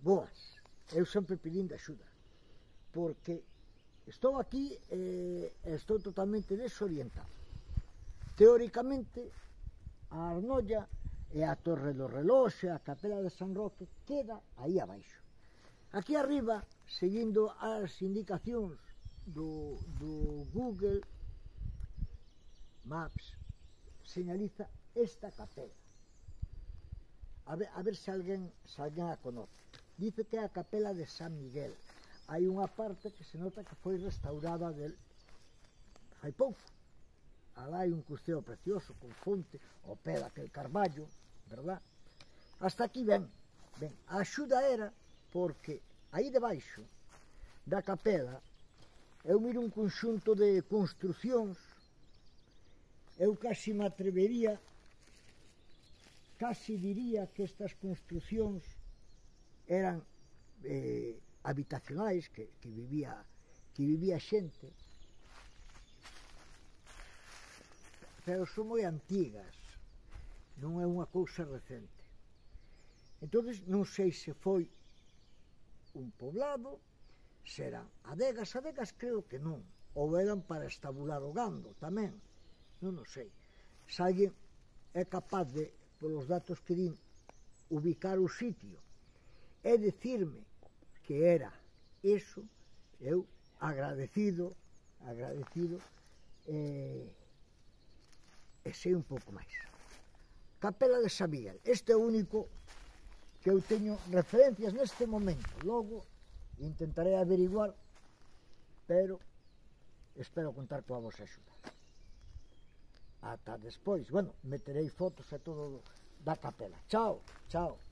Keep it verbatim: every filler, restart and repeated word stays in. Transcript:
boas. Eu sempre pedindo axuda, porque estou aquí e eh, estou totalmente desorientado. Teóricamente, a Arnolla e a Torre do Reloxe, a Capela de San Roque, queda aí abaixo. Aquí arriba, seguindo as indicacións do, do Google Maps, señaliza esta capela. A ver, a ver se alguén, se alguén a conoce. Dice que é a Capela de San Miguel. Hai unha parte que se nota que foi restaurada del hai pouco. Alá hai un custeo precioso con fonte ao pé daquel carballo, verdad? Hasta aquí ben, ben. A axuda era porque aí debaixo da capela eu miro un conxunto de construcións. Eu casi me atrevería, casi diría que estas construcións eran eh, habitacionais, que, que vivía que vivía xente, pero son moi antigas, non é unha cousa recente. Entonces non sei se foi un poblado, se eran adegas, adegas creo que non, ou eran para estabular o gando tamén, non o sei. Se alguén é capaz de, polos datos que din, ubicar o sitio e decirme que era eso, eu agradecido, agradecido, e, e sei un pouco máis. Capela de San Miguel, este é o único que eu teño referencias neste momento, logo intentaré averiguar, pero espero contar coa vosa axuda. Ata despois, bueno, meterei fotos e todo da capela. Chao, chao.